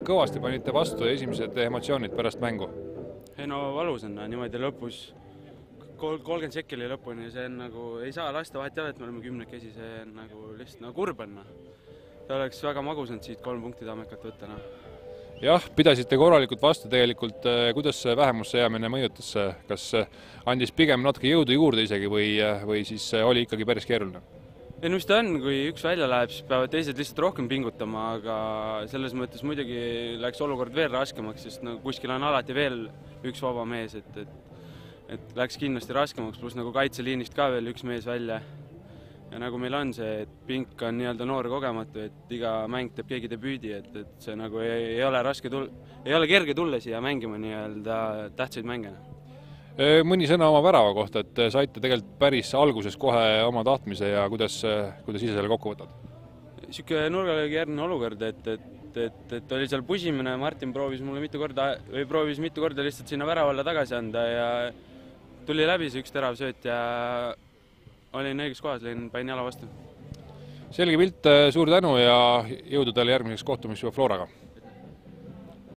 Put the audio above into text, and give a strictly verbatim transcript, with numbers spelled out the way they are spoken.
Kõvasti panite vastu esimesed emotsioonid pärast mängu? Ei no valus on niimoodi lõpus, kolmkümmend sekki oli lõpuni, see on nagu, ei saa lasta vahet jala, et me oleme kümnekesi, see on nagu lihtsalt nagu kurb on. See oleks väga magus on siit kolm punkti tamekat võtta. No. Jah, pidasite korralikult vastu tegelikult, kuidas see vähemusse jäämine mõjutas, kas andis pigem natuke jõudu juurde isegi või, või siis oli ikkagi päris keeruline? Ei no mis ta on, kui üks välja läheb, siis peavad teised lihtsalt rohkem pingutama, aga selles mõttes muidugi läks olukord veel raskemaks, sest no, kuskil on alati veel üks vaba mees, et, et, et läks kindlasti raskemaks, pluss nagu kaitseliinist ka veel üks mees välja. Ja nagu meil on see, et pink on nii-öelda noor kogematu, et iga mäng teeb keegi debüüdi, et, et see nagu ei, ei ole raske tulla, ei ole kerge tulla siia mängima nii-öelda tähtsaid mängena. Mõni sõna oma värava kohta, et saite tegelikult päris alguses kohe oma tahtmise ja kuidas, kuidas ise selle kokku võtad? Siuke nurgalöögi järgne olukord, et, et, et, et oli seal pusimine, Martin proovis mulle mitu korda, või proovis mitu korda lihtsalt sinna väravalla tagasi anda ja tuli läbi see üks terav sööt ja olin õiges kohas, lõin pain jala vastu. Selge pilt, suur tänu ja jõudu teile järgmiseks kohtumist juba Floraga!